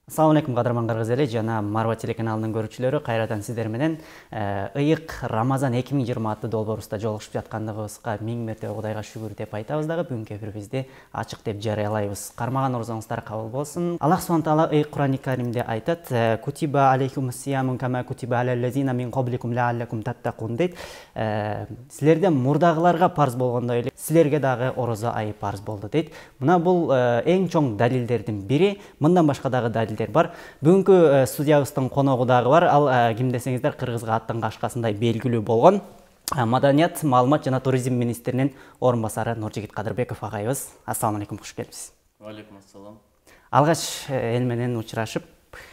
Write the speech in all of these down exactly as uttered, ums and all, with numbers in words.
Assalamu alaikum кадырман кыргыз эли жана Марва телеканалынын көрүүчүлөрү, кайрадан сиздер менен ыйык Рамазан эки миң жыйырма аттуу долбоорубузда жолугушуп жаткандыгыбызга миң мертебе Кудайга шүгүр деп айтабыз дагы. Бүгүнкү эфирибизди ачык деп жарыялайбыз. Кармаган орозоңуздар кабыл болсун. Аллах субхана таала ыйык Кур'ани Каримде айтат: "Кутиба алейкумус сияму кама кутиба алаллазина мин кабликум лааллакум таттакун" дейт. Силерде мурдагыларга парз болгондой эле силерге дагы орозо айы парз болду дейт. Мына бул эң чоң далилдердин бири. Мындан башка дагы далил бар. Бүгүнкү студиябыздын коногу дагы бар. Ал ким десеңиздер, кыргызга аттан кашкасындай белгилүү болгон Маданият, маалымат жана туризм министринин орун басары Нуржигит Кадырбеков агайыбыз. Ассаламу алейкум, куш келипсиз. Ва алейкум ассалам. Алгач эл менен учурашып,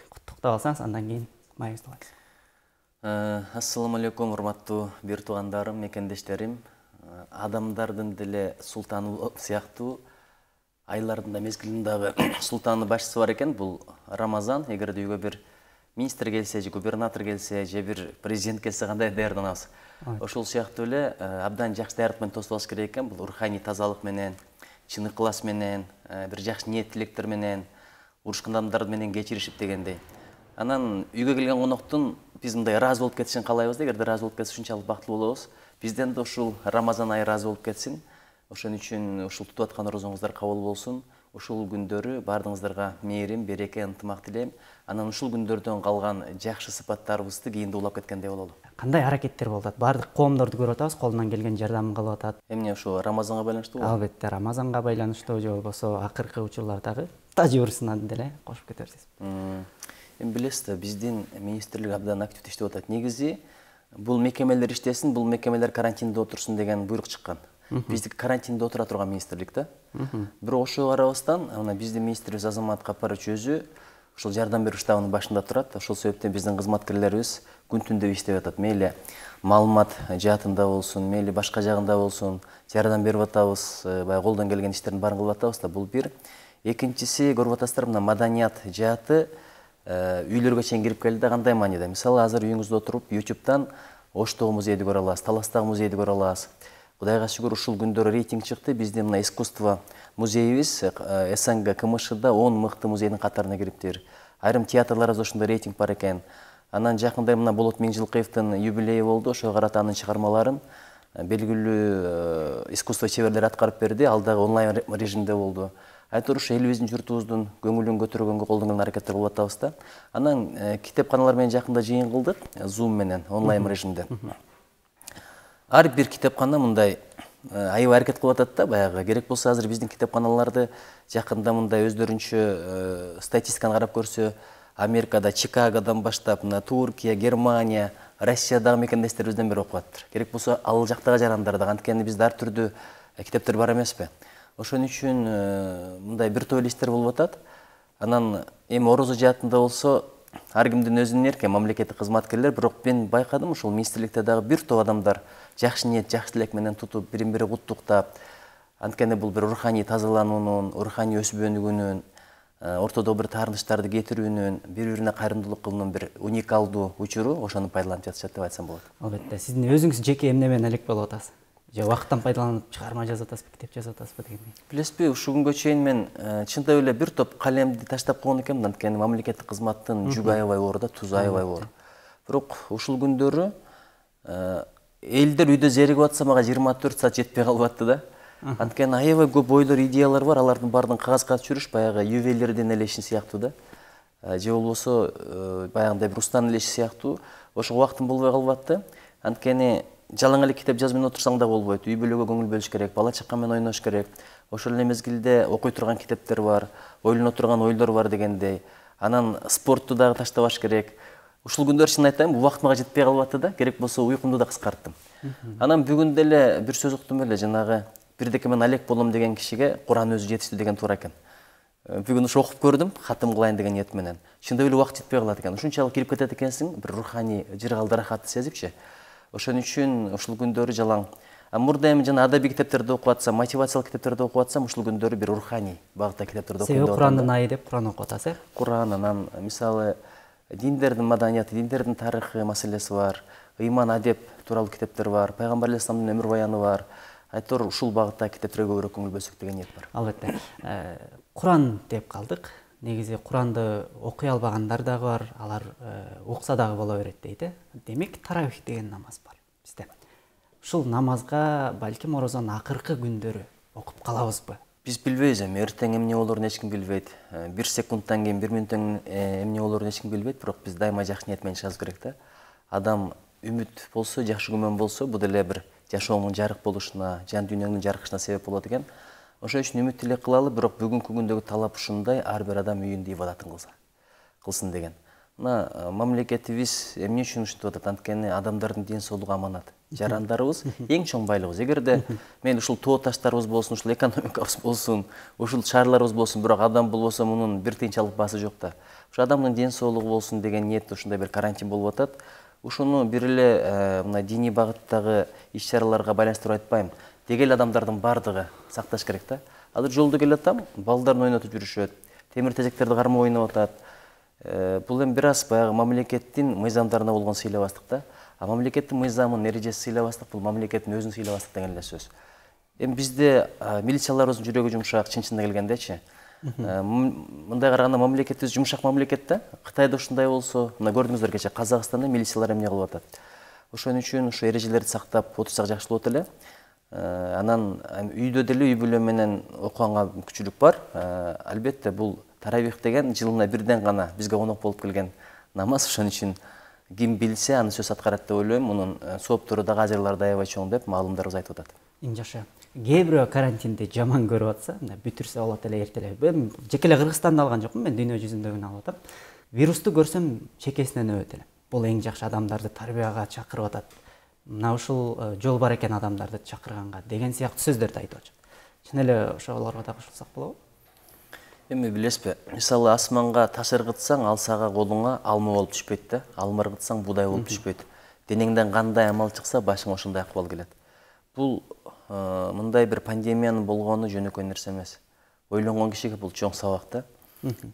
куттуктап алсаңыз, андан кийин майыбызды алабыз. Ассаламу алейкум, урматтуу бир туугандарым, мекендештерим. Адамдардын деле султаны сыяктуу айлардын да мезгилинин дагы султаны башчысы бар экен. Бул Рамазан. Эгерде үйгө бир министр келсе, же губернатор келсе, же бир президент келсе кандай даярданабыз? Ошол сыяктуу эле абдан жакшы даярдык менен тосуп алыш керек экен. Бул руханий тазалык менен, чын ыклас менен, бир жакшы ниет тилектер менен, урушкан адамдар менен кечиришип дегендей. Анан үйгө келген коноктун биз мындай ыраазы болуп кетишин каалайбыз да. Эгерде ыраазы болуп кетсе ушунчалык бактылуу болобуз. Бизден да ушул Рамазан айы ыраазы болуп кетсин. Ошон үчүн ушул тутуп аткан орозоңуздар кабыл болсун. Ушул күндөрү баардыгыңыздарга мээрим, береке, ынтымак тилейм. Анан ушул күндөрдөн калган жакшы сыпаттарыбызды кийинде улап кеткендей бололу. Кандай аракеттер болуп атат? Баардык коомдорду көрүп атабыз, колунан келген жардамын кылып атат. Эмне ошо Рамазанга байланыштуубу? Албетте, Рамазанга байланыштуу же болбосо акыркы учурлардагы тажрыйбасынан деле кошуп кете берсеңиз. Эми билесиз да, биздин министрлик абдан активдүү иштеп атат. Негизи бул мекемелер иштесин, бул мекемелер карантинде отурсун деген буйрук чыккан. Биздики карантинде отура турган министрлик да. Бирок ошого карабастан, мына биздин министрибиз Азамат Капарович өзү ушул жардам берүү штабынын башында турат. Ошол себептен биздин кызматкерлерибиз күн түндө иштеп атат. Мейли маалымат жаатында болсун, мейли башка жагында болсун, жардам берип атабыз, баягы колдон келген иштердин баарын кылып атабыз да. Бул бир. Экинчиси, көрүп атасыздар, мына маданият жааты үйлөргө чейин кирип келди. Кандай мааниде? Мисалы, азыр үйүңүздө отуруп YouTube'дан Оштогу музейди көрө аласыз, Таластагы музейди көрө аласыз. Кудайга шүгүр, ушул күндөрү рейтинг чыкты. Биздин мына искусство музейибиз СНГ КМШда он мыкты музейдин катарына кириптир. Айрым театрларыбызда ошондой рейтинг бар экен. Анан жакында мына Болот Миңжилкыевдин юбилейи болду. Ошого карата анын чыгармаларын белгилүү искусство чеберлери аткарып берди. Ал дагы онлайн режимде болду. Айтор ушу элибиздин журтубуздун көңүлүн көтөргөнгө колдон келген аракеттер кылып атабыз да. Анан китепканалар менен жакында жыйын кылдык, Zoom менен онлайн режимде. Ар бир китепкана мындай аябай аракет кылып атат да, баягы керек болсо азыр биздин китепканаларды жакында мындай өздөрүнчө статистиканы карап көрсө, Америкада, Чикагодан баштап, мына Туркия, Германия, Россиядагы мекендештерибизден бери окуп атыптыр. Керек болсо ал жактагы жарандар да, анткени бизде ар түрдүү китептер бар эмеспи. Ошон үчүн мындай бир топ иштер болуп атат. Анан эми орозо жаатында болсо ар кимдин өзүнүн эрки, мамлекеттик кызматкерлер, бирок мен байкадым, ушул министрликте дагы бир топ адамдар жакшы ниет, жакшы тилек менен тутуп, бирин-бири куттуктап, анткени бул бир руханий тазалануунун, руханий өсүп өнүгүүнүн, ортодо бир таарынычтарды кетирүүнүн, бири-бирине кайрымдуулук кылуунун бир уникалдуу учуру, ошону пайдаланып жатышат деп айтсам болот. Албетте, сиздин өзүңүз жеке эмне менен элек болуп атасыз? Же убакыттан пайдаланып чыгарма жазып атасызбы, китеп жазып атасызбы дегендей? Билесизби, ушул күнгө чейин мен чындап эле бир топ калемди таштап койгон экенмин, анткени мамлекеттик кызматтын жүгү аябай оор да, тузу аябай оор. Бирок ушул күндөрү элдер үйдө зеригип атса, мага жыйырма төрт саат жетпей калып атты да. Анткени аябай көп ойлор, идеялар бар, алардын баардыгын кагазга түшүрүш баягы ювелирдин эле иши сыяктуу да. Же болбосо баягындай бир устанын эле иши сыяктуу. Ошого убактым болбой калып атты. Анткени жалаң эле китеп жазып менен отурсаң да болбойт. Үй бүлөгө көңүл бөлүш керек, бала чака менен ойнош керек. Ошол эле мезгилде окуй турган китептер бар, ойлоно турган ойлор бар дегендей. Анан спортту дагы таштабаш керек. Ушул күндөр чын айтайын, убакыт мага жетпей калып атты да. Керек болсо уйкумду да кыскарттым. Анан бүгүн деле бир сөз уктум эле, жанагы бирдеке мен алек болом деген кишиге Куран өзү жетиштүү деген туура экен. Бүгүн ушу окуп көрдүм, катым кылайын деген ниет менен. Чындап эле убакыт жетпей калат экен. Ушунчалык кирип кетет экенсиң, бир руханий жыргалды рахатты сезипчи. Ошон үчүн ушул күндөрү жалаң. Мурда эми жана адабий китептерди окуп атсам, мотивациялык китептерди окуп атсам, ушул күндөрү бир руханий багытта китептерди окуйм деп атам. Себеби Курандын айы деп Куран окуп атасыз, э? Куран, анан мисалы диндердин маданияты, диндердин тарыхы маселеси бар, ыйман адеп тууралуу китептер бар, пайгамбар алейхисаламдын өмүр баяны бар. Айтор ушул багытта китептерге көбүрөөк көңүл бөлсөк деген ниет бар. Албетте. Куран деп калдык. негизи Куранды окуй албагандар дагы бар, алар укса дагы боло берет дейт э. Демек таравих деген намаз бар бизде. Ушул намазга балким орозонун акыркы күндөрү окуп калабызбы? Биз билбейбиз, эми эртең эмне болорун эч ким билбейт. Бир секундтан кийин, бир мүнөттөн эмне болорун эч ким билбейт, бирок биз дайыма жакшы ниет менен чыгабыз керек да. Адам үмүт болсо, жакшы күмөн болсо, бул деле бир жашоонун жарык болушуна, жан дүйнөңдүн жарыгышына себеп болот экен. Ошон үчүн үмүт эле кылалы, бирок бүгүнкү күндөгү талап ушундай, ар бир адам үйүндө ибадатын кылса, кылсын деген. Мына мамлекетибиз эмне үчүн ушинтип атат? Анткени адамдардын ден соолугу аманат. Жарандарыбыз эң чоң байлыгыбыз. Эгерде мен ушул тоо таштарыбыз болсун, ушул экономикабыз болсун, ушул шаарларыбыз болсун, бирок адам болбосо мунун бир тыйынчы алып баасы жок да. Ушу адамдын ден соолугу болсун деген ниетте ушундай бир карантин болуп атат. Ушуну бир эле мына диний багыттагы иш-чараларга байланыштырып айтпайм. Деги эле адамдардын бардыгы сакташ керек да. Азыр жолдо келатам, балдарын ойнотуп жүрүшөт, темир тезектерди кармап ойноп атат. Бул эми бир аз баягы мамлекеттин мыйзамдарына болгон сыйлабастык да. А мамлекеттин мыйзамын, эрежеси сыйлабастык, бул мамлекеттин өзүн сыйлабастык деген эле сөз. Эми бизде милицияларыбыздын жүрөгү жумшак, чын-чынына келгендечи. Мындай караганда мамлекетибиз жумшак мамлекет да. Кытайда ушундай болсо, мына көрдүңүздөр кече Казакстанда милициялар эмне кылып атат. Ошон үчүн ушу эрежелерди сактап отурсак жакшы болот эле. Анан үйдө деле үй бүлө менен окуганга мүмкүнчүлүк бар. Албетте бул таравих деген жылына бирден гана бизге конок болуп келген намаз. Ошон үчүн ким билсе аны сөз аткарат деп ойлойм. Мунун сооптору дагы ажырларды аябай чоң деп маалымдарыбыз айтып атат. Жаша. Кээ бирөө карантинди жаман көрүп атса, мына бүтүрсө болот эле эртелеп. Мен жеке эле Кыргызстанды алган жокмун, мен дүйнө жүзүндөгүнү алып атам. Вирусту көрсөм чекесинен өбөт элем. Бул эң жакшы адамдарды тарбияга чакырып атат. Мына ушул жол бар экен адамдарды чакырганга деген сыяктуу сөздөрдү айтып атат. Чын эле ошолорго да кошулсак болобу? Эми билесизби, мисалы асманга таш ыргытсаң, ал сага колуңа алма болуп түшпөйт да, алма ыргытсаң буудай болуп түшпөйт. Денеңден кандай амал чыкса, башыңа ошондой акыбал келет. Бул мындай бир пандемиянын болгону жөнөкөй нерсе эмес. Ойлонгон кишиге бул чоң сабак да.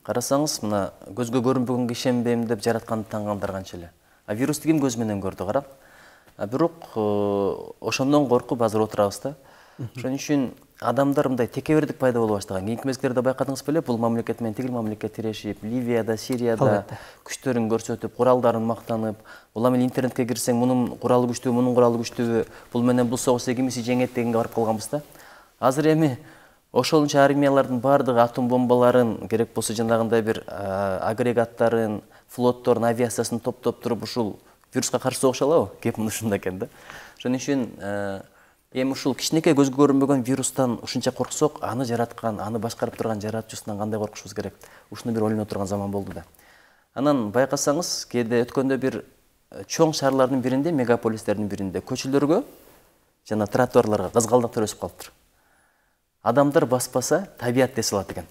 Карасаңыз, мына көзгө көрүнбөгөнгө ишенбейм деп жаратканды таангандар канча эле. А вирусту ким көзү менен көрдү, карап. А бирок ошондон коркуп азыр отурабыз да. Ошон үчүн адамдар мындай текебердик пайда боло баштаган. Кийинки мезгилдерде байкадыңыз беле, бул мамлекет менен тигил мамлекет тирешип, Ливияда, Сирияда күчтөрүн көрсөтүп, куралдарын мактанып, улам эле интернетке кирсең, мунун куралы күчтүү, мунун куралы күчтүү, бул менен бул согушта кимиси жеңет дегенге барып калганбыз да. Азыр эми ошолунча армиялардын бардыгы атом бомбаларын, керек болсо жанагындай бир агрегаттарын, флотторун, авиациясын топтоп туруп ушул вируска каршы согуша алабы? Кеп мына ушунда экен да. Ошон үчүн эми ушул кичинекей көзгө көрүнбөгөн вирустан ушунча корксок, аны жараткан, аны башкарып турган жаратуучусунан кандай коркушубуз керек? Ушуну бир ойлоно турган заман болду да. Анан байкасаңыз, кээде өткөндө бир чоң шаарлардын биринде, мегаполистердин биринде көчөлөргө жана тротуарларга кызгалдактар өсүп калыптыр. Адамдар баспаса, табият дес алат экен.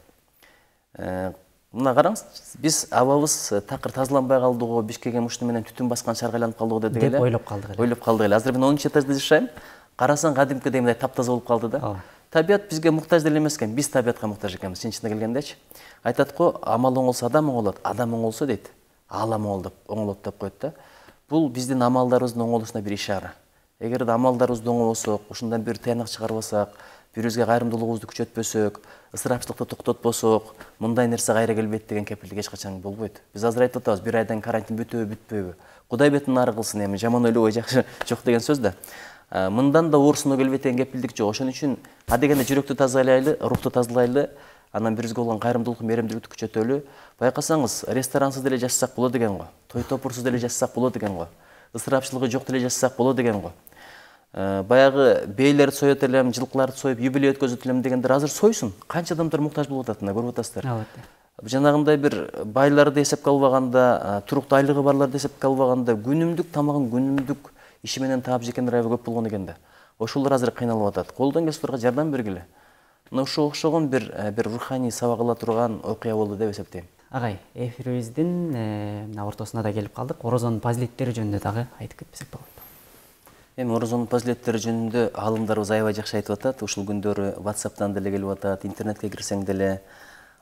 Мына караңыз, биз абабыз такыр тазаланбай калдыго, Бишкекке ушуну менен түтүн баскан шаарга айланып калдыго дедик эле. Деп ойлоп калдык эле. Ойлоп калдык эле. Азыр мен онунчу этажда жашайм. Карасаң кадимкидей мындай таптаза болуп калды да. Табият бизге муктаж деле эмес экен, биз табиятка муктаж экенбиз, чын-чынына келгендечи. Айтат го, амал оңолсо адам оңолот, адам оңолсо дейт, аалам оңолот деп коет да. Бул биздин амалдарыбыздын оңолушуна бир ишара. Эгерде амалдарыбызды оңолосок, ушундан бир тыянак чыгарбасак, бирибизге кайрымдуулугубузду күчөтпөсөк, ысырапчылыкты токтотпосок, мындай нерсе кайра келбейт деген кепилдик эч качан болбойт. Биз азыр айтып атабыз, бир айдан карантин бүтөбү, бүтпөйбү. Кудай бетин нары кылсын, эми жаман ойлобой жакшы жок деген сөз да. Мындан да оорусуна келбейт деген кепилдик жок. Ошон үчүн адегенде жүрөктү тазалайлы, рухту тазалайлы, анан бирибизге болгон кайрымдуулук, мээримдүүлүктү күчөтөлү. Байкасаңыз, ресторансыз деле жашасак болот деген го. Той топурсуз деле жашасак болот деген го. Ысырапчылыгы жок деле жашасак болот деген го. Баягы бейлерди соёт элем, жылкыларды союп, юбилей өткөзөт элем дегендер азыр сойсун. Канча адамдар муктаж болуп атат, мына көрүп атасыздар. Албетте. Жанагындай бир байларды эсепке албаганда, туруктуу айлыгы барларды эсепке албаганда, күнүмдүк тамагын күнүмдүк иши менен таап жекендер аябай көп болгон экен да. Ошолор азыр кыйналып атат. Колдон келсе аларга жардам бергиле. Мына ушуга окшогон бир бир руханий сабак ала турган окуя болду деп эсептейм. Агай, эфирибиздин мына ортосуна да келип калдык. Орозонун фазилеттери жөнүндө дагы айтып кетсек болот. Эми орозонун фазилеттери жөнүндө аалымдарыбыз аябай жакшы айтып атат. Ушул күндөрү WhatsApp'тан деле келип атат, интернетке кирсең деле.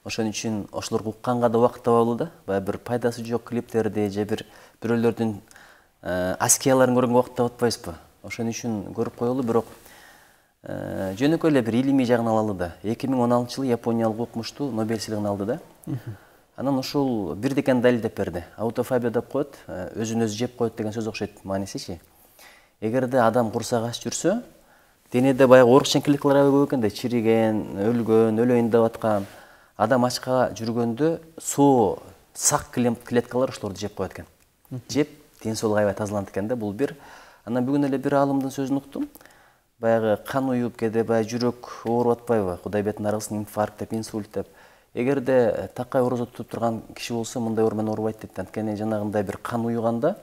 Ошон үчүн ошолорду укканга да убакыт табалы да. Баягы бир пайдасы жок клиптерди же бир бирөөлөрдүн аскияларын көргөнгө убакыт таап атпайбызбы? Ошон үчүн көрүп коелу, бирок жөнөкөй эле бир илимий жагын алалы да. эки миң он алтынчы жылы япониялык окумуштуу Нобель сыйлыгын алды да. Анан ушул бирдекени далилдеп берди. Аутофабия деп коет, өзүн өзү жеп коет деген сөз окшойт маанисичи. Эгерде адам курсак ач жүрсө, денеде баягы оорукчан клеткалар аябай көп экен да, чириген, өлгөн, өлөйүн деп аткан. Адам ачка жүргөндө соо, сак клеткалар ошолорду жеп коет экен. Жеп, ден соолугу аябай тазаланат экен да, бул бир. Анан бүгүн эле бир аалымдын сөзүн уктум. Баягы кан уюп, кээде баягы жүрөк ооруп атпайбы? Кудай бетин аргысын, инфаркт деп, инсульт деп. Эгерде такай орозо тутуп турган киши болсо, мындай оор менен оорубайт дейт. Анткени жанагындай бир кан уюганда,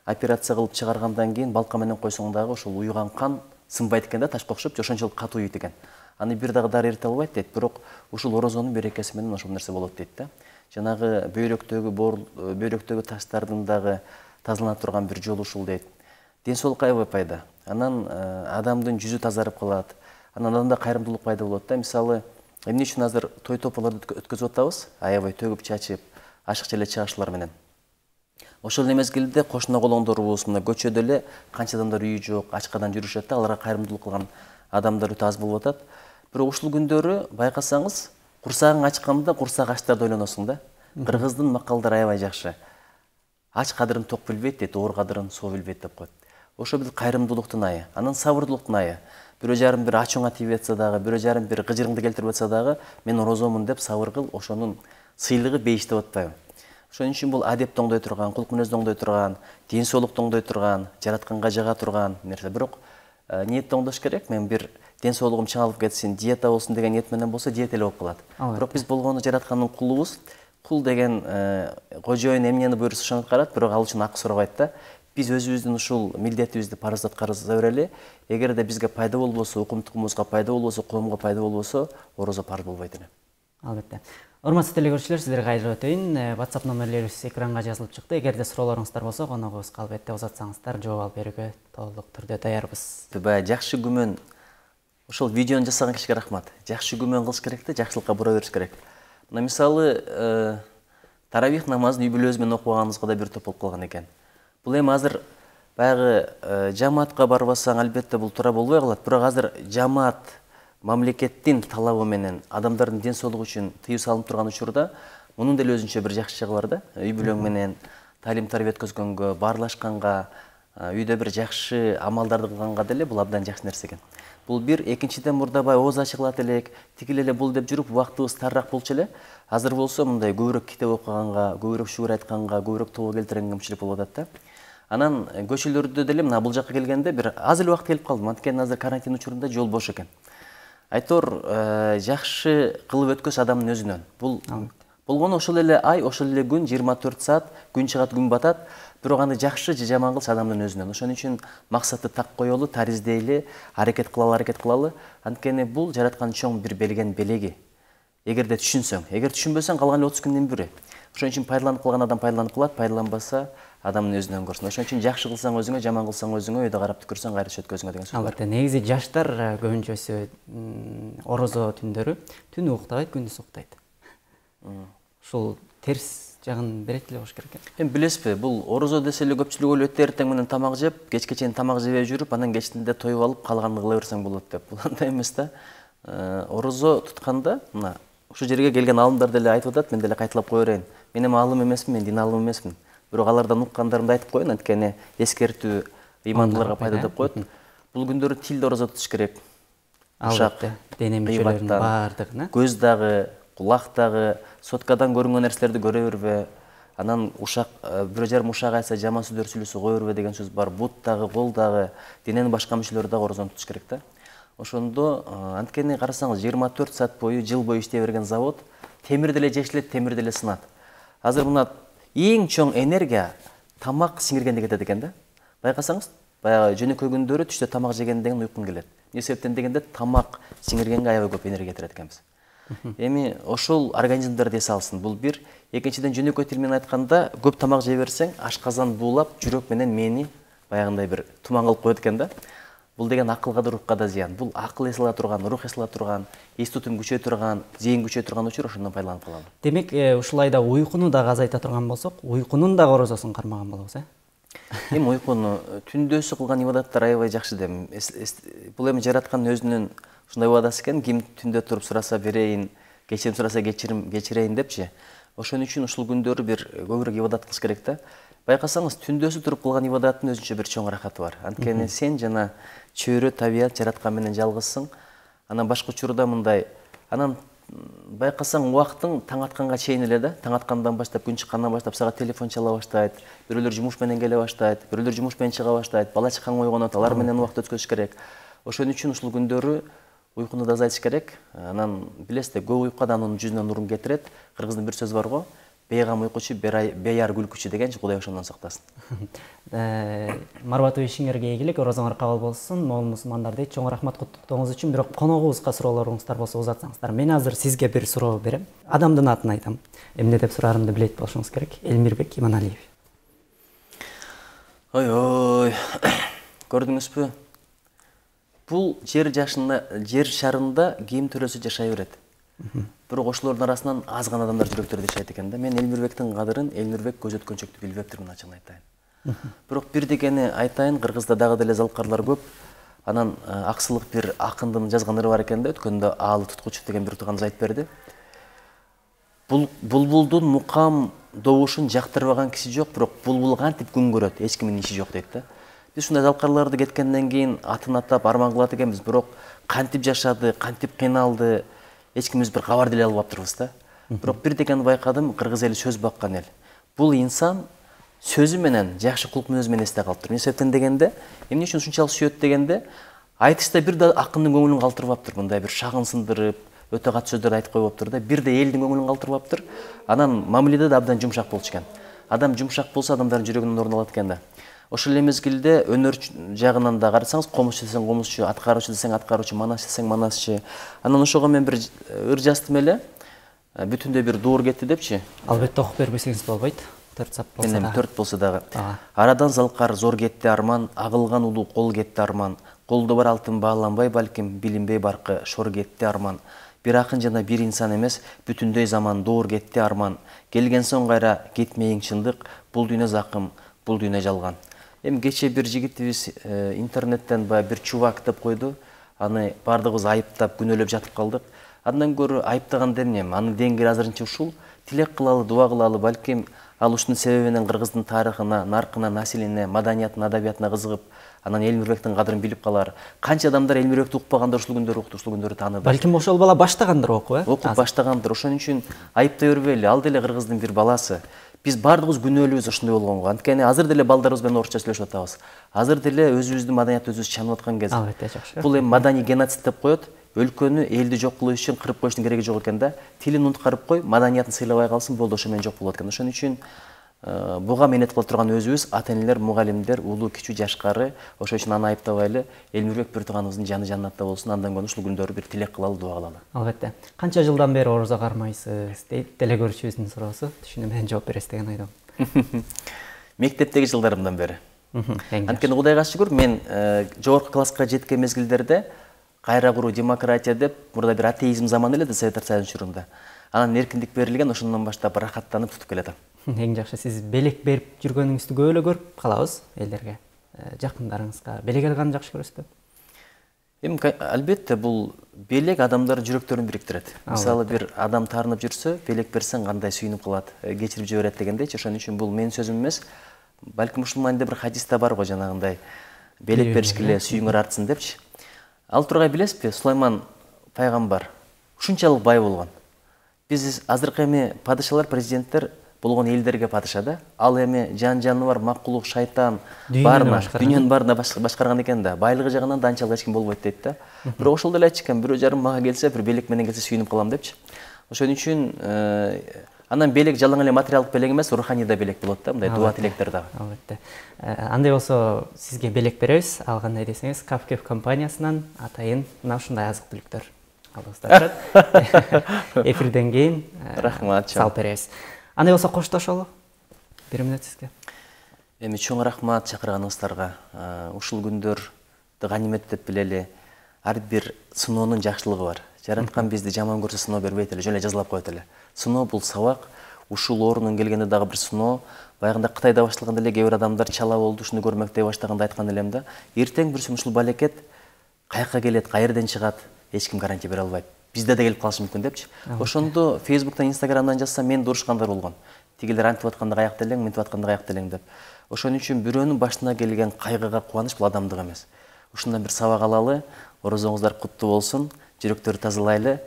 операция кылып чыгаргандан кийин балка менен койсоң дагы ошол уюган кан сынбайт экен да, ташка окшоп, ошончолук катуу уюйт экен. Аны бир дагы дары эрите албайт дейт, бирок ушул орозонун берекеси менен ошол нерсе болот дейт да. Жанагы бөйрөктөгү бөйрөктөгү таштардын дагы тазалана турган бир жолу ушул дейт. Ден соолукка аябай пайда. Анан адамдын жүзү тазарып калат. Анан адамда кайрымдуулук пайда болот да. Мисалы, эмне үчүн азыр той тополорду өткөзүп атабыз? Аябай төгүп чачып, ашыкча эле чыгашуулар менен. Ошол эле мезгилде кошуна колоңдорубуз, мына көчөдө эле канча адамдар үйү жок, ачкадан жүрүшөт да, аларга кайрымдуулук кылган адамдар өтө аз болуп атат. Бирок ушул күндөрү байкасаңыз, курсагың ачканда курсак ачтарды ойлоносуң да. Кыргыздын макалдары аябай жакшы. Ач кадырын ток билбейт дейт, оор кадырын соо билбейт деп коет. Ошо бир кайрымдуулуктун айы, анан сабырдуулуктун айы. Бирөө жарым бир ачууңа тийип атса дагы, бирөө жарым бир кыжырыңды келтирип атса дагы, мен орозомун деп сабыр кыл, ошонун сыйлыгы бейиш деп атпайбы. Ошон үчүн бул адепти оңдой турган, кулк мүнөздү оңдой турган, ден соолукту оңдой турган, жаратканга жага турган нерсе. Бирок ниетти оңдош керек. Мен бир ден соолугум чыңалып кетсин, диета болсун деген ниет менен болсо, диета эле болуп калат. Бирок биз болгону жараткандын кулубуз. Кул деген кожоюн эмнени буйрса ошону аткарат, бирок ал үчүн акы сурабайт да. Биз өзүбүздүн ушул милдетибизди парыз аткарып берели. Эгерде бизге пайда болбосо, укум-тукумубузга пайда болбосо, коомго пайда болбосо, орозо парыз болбойт эле. Албетте. Урматтуу телекөрүүчүлөр, сиздерге кайрылып өтөйүн. WhatsApp номерлерибиз экранга жазылып чыкты. Эгерде суроолоруңуздар болсо, коногубузга албетте узатсаңыздар, жооп алып берүүгө толук түрдө даярбыз. Баягы жакшы күмөн, ошол видеону жасаган кишиге рахмат. Жакшы күмөн кылыш керек да, жакшылыкка бура бериш керек. Мына мисалы, таравих намазын үй бүлөбүз менен окуганыбызга да бир топ болуп калган экен. Бул эми азыр баягы жамаатка барбасаң, албетте бул туура болбой калат. Бирок азыр жамаат мамлекеттин талабы менен адамдардын ден соолугу үчүн тыюу салынып турган учурда, мунун деле өзүнчө бир жакшы жагы бар да. Үй бүлөң менен талим-тарбия өткөзгөнгө, баарлашканга, үйдө бир жакшы амалдарды кылганга деле бул абдан жакшы нерсе экен. Бул бир, экинчиден мурда бай ооз ачыгылат элек, тигил эле бул деп жүрүп, убактыбыз тарыраак болчу эле. Азыр болсо мындай көбүрөөк китеп окуганга, көбүрөөк шүгүр айтканга, көбүрөөк тобо келтиргенге кымчылык болуп атат да. Анан көчөлөрдө деле мына бул жакка келгенде бир аз эле убакыт келип калдым. Анткени азыр карантин учурунда жол бош экен. Айтор жакшы кылып өткөз адамдын өзүнөн. Бул болгону ошол эле ай, ошол эле күн, жыйырма төрт саат, күн чыгат, күн батат. Бирок аны жакшы же жаман кылыш адамдын өзүнөн. Ошон үчүн максатты так коелу, тариздейли, аракет кылалы, аракет кылалы. Анткени бул жараткан чоң бир белген белеги. Эгерде түшүнсөң, эгер түшүнбөсөң, калган отуз күндүн бири. Ошон үчүн пайдаланып калган адам пайдаланып калат, пайдаланбаса адамдын өзүнөн көрсүн. Ошон үчүн жакшы кылсаң өзүңө, жаман кылсаң өзүңө, өйдө карап түкүрсөң кайра өткөзүңө деген сөз бар. Албетте, негизи жаштар көбүнчөсү орозо түндөрү түнү уктабайт, күндүз уктайт. Ушул терс жагын берет эле болуш керек экен. Эми билесизби, бул орозо десе эле көпчүлүк ойлойт, эртең менен тамак жеп, кечке чейин тамак жебей жүрүп, анан кечинде тоюп алып, калганын кыла берсең болот деп. Бул андай эмес да. Орозо тутканда, мына ушул жерге келген аалымдар деле айтып атат, мен деле кайталап кое берейин. Мен эми аалым эмесмин, мен дин аалымы эмесмин. Бирок алардан уккандарымды айтып коеюн, анткени эскертүү ыймандууларга пайда деп коет. Бул күндөрү тилде орозо тутуш керек. Ушак, дене мүчөлөрүнүн баардыгына. Көз дагы, кулак дагы, соткадан көрүнгөн нерселерди көрө бербе. Анан ушак, бирөө жарым ушак айтса, жаман сөздөр сүйлөсө кое бербе деген сөз бар. Бут дагы, кол дагы, дененин башка мүчөлөрү дагы орозону тутуш керек да. Ошондо анткени карасаңыз, жыйырма төрт саат бою, жыл бою иштей берген завод темир деле жешилет, темир деле сынат. Азыр мына эң чоң энергия тамак сиңиргенде кетет экен да. Байкасаңыз, баягы жөнөкөй күндөрү түштө тамак жегенден кийин уйкуң келет. Эмне себептен дегенде тамак сиңиргенге аябай көп энергия кетирет экенбиз. Эми ошол организмдерди эс алсын. Бул бир, экинчиден жөнөкөй тил менен айтканда, көп тамак жей берсең, ашказан буулап, жүрөк менен мээни баягындай бир туман кылып коет экен да. Бул деген акылга да, рухка да зыян. Бул акыл эс ала турган, рух эс ала турган, эс тутум күчөй турган, зээн күчөй турган учур, ошондон пайдаланып калалы. Демек, ушулайда уйкуну дагы азайта турган болсок, уйкунун дагы орозосун кармаган болобуз, э? Эми уйкуну түндөсү кылган ибадаттар аябай жакшы дем. Бул эми жараткандын өзүнүн ушундай убадасы экен, ким түндө туруп сураса берейин, кечирим сураса кечирим кечирейин депчи. Ошон үчүн ушул күндөрү бир көбүрөөк ибадат кылыш керек да. Байкасаңыз, түндөсү туруп кылган ибадаттын өзүнчө бир чоң рахаты бар. Анткени сен жана чөйрө табият жараткан менен жалгызсың. Анан башка учурда мындай, анан байкасаң убактың таң атканга чейин эле да, таң аткандан баштап, күн чыккандан баштап сага телефон чала баштайт, бирөөлөр жумуш менен келе баштайт, бирөөлөр жумуш менен чыга баштайт, бала чакаң ойгонот, алар менен убакыт өткөрүш керек. Ошон үчүн ушул күндөрү уйкуну да азайтыш керек. Анан билесиз, көп уйку адамдын жүзүнө нурун кетирет. Кыргыздын бир сөзү бар го, бейгам уйкучу, бейар күлкүчү дегенчи, Кудай ошондон сактасын. Марбатов ишиңерге ийгилик, оразаңар кабыл болсун. Моңол мусулмандар дейт, чоң рахмат куттуктооңуз үчүн. Бирок коногубузга суроолоруңуздар болсо узатсаңыздар. Мен азыр сизге бир суроо берем. Адамдын атын айтам. Эмне деп сураарымды билет болушуңуз керек. Элмирбек Иманалиев. Ой-ой. Көрдүңүзбү? Бул жер жашында, жер шарында ким төрөсү жашай берет. Бирок ошолордун арасынан аз гана адамдар жүрөктөрдө жашайт экен да. Мен Элмирбектин кадырын, Элмирбек көз өткөнчөктү билбептирмин, ачыгын айтайын. Бирок бир дегени айтайын, Кыргызда дагы деле залкарлар көп. Анан Аксылык бир акындын жазган ыры бар экен да, өткөндө Аалы Туткучев деген бир тууганыбыз айтып берди. Булбулдун мукам добушун жактырбаган киши жок, бирок булбул кантип күн көрөт, эч кимдин иши жок дейт да. Биз ушундай залкарларды кеткенден кийин атын атап арман кылат экенбиз, бирок кантип жашады, кантип кыйналды, эч кимибиз бир кабар деле албаптырбыз да. Бирок бир дегени байкадым, кыргыз эли сөз баккан эл. Бул инсан сөзү менен, жакшы кулк мүнөзү менен эсте калыптыр. Эмне себептен дегенде, эмне үчүн ушунчалык сүйөт дегенде, айтышта бир да акындын көңүлүн калтырбаптыр, мындай бир шагын сындырып, өтө кат сөздөрдү айтып койбоптур да, бир да элдин көңүлүн калтырбаптыр. Анан мамиледе да абдан жумшак болчу экен. Адам жумшак болсо, адамдардын жүрөгүнөн орун алат экен да. Ошол эле мезгилде өнөр жагынан да карасаңыз, комузчу десең комузчу, аткаруучу десең аткаруучу, манасчы десең манасчы. Анан ошого мен бир ыр жаздым эле. Бүтүндөй бир дуур кетти депчи. Албетте окуп бербесеңиз болбойт. төрт сап болсо да. төрт болсо дагы. Арадан залкар зор кетти арман, агылган улуу кол кетти арман. Колдо бар алтын бааланбай балким, билинбей баркы шор кетти арман. Бир акын жана бир инсан эмес, бүтүндөй заман дуур кетти арман. Келген соң кайра кетмейин чындык, бул дүйнө закым, бул дүйнө жалган. Эми кече бир жигитибиз интернеттен баягы бир чубак деп койду. Аны бардыгыбыз айыптап, күнөөлөп жатып калдык. Андан көрө айыптаган эмне? Анын деңгээли азырынча ушул. Тилек кылалы, дуа кылалы, балким ал ушунун себебинен Кыргыздын тарыхына, наркына, населине, маданиятына, адабиятына кызыгып, анан Элмирбектин кадырын билип калар. Канча адамдар Элмирбекти укпагандар ушул күндөрү укту, ушул күндөрү тааныды. Балким ошол бала баштагандыр окуп, э? Окуп баштагандыр. Ошон үчүн айыптай бербейли. Ал деле Кыргыздын бир баласы. Биз бардыгыбыз күнөөлүүбүз ошондой болгонго. Анткени азыр деле балдарыбыз менен орусча сүйлөшүп атабыз. Азыр деле өзүбүздүн маданиятты өзүбүз чанып аткан кез. Албетте, жакшы. Бул эми маданий геноцид деп коет. Өлкөнү, элди жок кылуу үчүн кырып коюштун кереги жок экен да. Тилин унуткарып кой, маданиятын сыйлабай калсын, болду, ошо менен жок болот экен. Ошон үчүн буга мээнет кыла турган өзүбүз, ата-энелер, мугалимдер, улуу, кичүү, жашкары. Ошон үчүн аны айыптабайлы. Элмирбек бир тууганыбыздын жаны жаннатта болсун. Андан көрүн ушул күндөрү бир тилек кылалы, дуа кылалы. Албетте. Канча жылдан бери орозо кармайсыз дейт деле көрүүчүбүздүн суроосу. Түшүнүп менен жооп бересиз деген ойдомун. Мектептеги жылдарымдан бери. Анткени Кудайга шүгүр, мен жогорку класска жеткен мезгилдерде кайра куруу, демократия деп, мурда бир атеизм заманы эле да Советтер Союзунун учурунда. Анан эркиндик берилген, ошондон баштап рахаттанып тутуп келатам. Эң жакшы, сиз белек берип жүргөнүңүздү көп эле көрүп калабыз элдерге. Жакындарыңызга белек алганды жакшы көрөсүзбү? Эми албетте бул белек адамдардын жүрөктөрүн бириктирет. Мисалы бир адам таарынып жүрсө, белек берсең кандай сүйүнүп калат, кечирип жиберет дегендейчи. Ошон үчүн бул менин сөзүм эмес. Балким ушул маанидә бир хадисте бар го, жанагындай белек беришкиле сүйүңөр артсын депчи. Ал тургай билесизби, Сулайман пайгамбар ушунчалык бай болгон. Биз азыркы эми падышалар, президенттер болгон элдерге падыша да. Ал эми жан жаныбар, макулук, шайтан баарына, дүйнөнүн баарына башкарган экен да. Байлыгы жагынан да анчалык эч ким болбойт дейт да. Бирок ошол деле айтчу экен, бирөө жарым мага келсе, бир белек менен келсе сүйүнүп калам депчи. Ошон үчүн анан белек жалаң эле материалдык белек эмес, руханий да белек болот да, мындай дуа тилектер дагы. Албетте. Андай болсо сизге белек беребиз. Ал кандай десеңиз, Капкев компаниясынан атайын мына ушундай азык-түлүктөр алыбыздар турат. Эфирден кийин рахмат салып беребиз. Андай болсо коштошолу. Бир мүнөт сизге. Эми чоң рахмат чакырганыңыздарга. Ушул күндөрдү ганимет деп билели. Ар бир сыноонун жакшылыгы бар. Жараткан бизди жаман көрсө сыноо бербейт эле, жөн эле жазалап коет эле. Сыноо бул сабак. Ушул оорунун келгенде дагы бир сыноо. Баягында Кытайда башталганда эле кээ бир адамдар чала болду, ушуну көрмөктөй баштаганда айткан элем да. Эртең бир ушул балекет каяка келет, каерден чыгат, эч ким гарантия бере албайт. бизде да келип калышы мүмкүн депчи. Ошондо Facebook'тан, Instagram'дан жазса мен да урушкандар болгон. Тигилер антип атканда каякта элең, мынтип атканда каякта элең деп. Ошон үчүн бирөөнүн башына келген кайгыга кубаныч бул адамдык эмес. Ушундан бир сабак алалы, орозоңуздар куттуу болсун, жүрөктөрдү тазалайлы,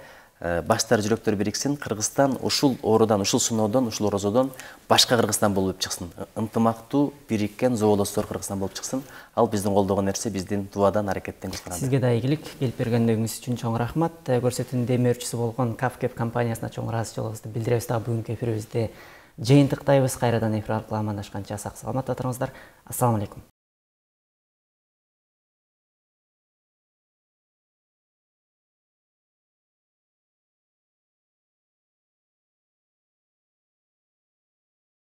баштар жүрөктөр бириксин. Кыргызстан ушул оорудан, ушул сыноодон, ушул орозодон башка Кыргызстан болуп чыксын. Ынтымактуу, бириккен зоолостор Кыргызстан болуп чыксын. Ал биздин колдогон нерсе, биздин дубадан, аракеттен көз каранды. Сизге да ийгилик, келип бергендигиңиз үчүн чоң рахмат. Көрсөтүүнүн демөөрчүсү болгон Капкеп компаниясына чоң ыраазычылыгыбызды билдиребиз. Дагы бүгүнкү эфирибизди жыйынтыктайбыз. Кайрадан эфир аркылуу амандашканча сак саламатта туруңуздар. Ассаламу алейкум.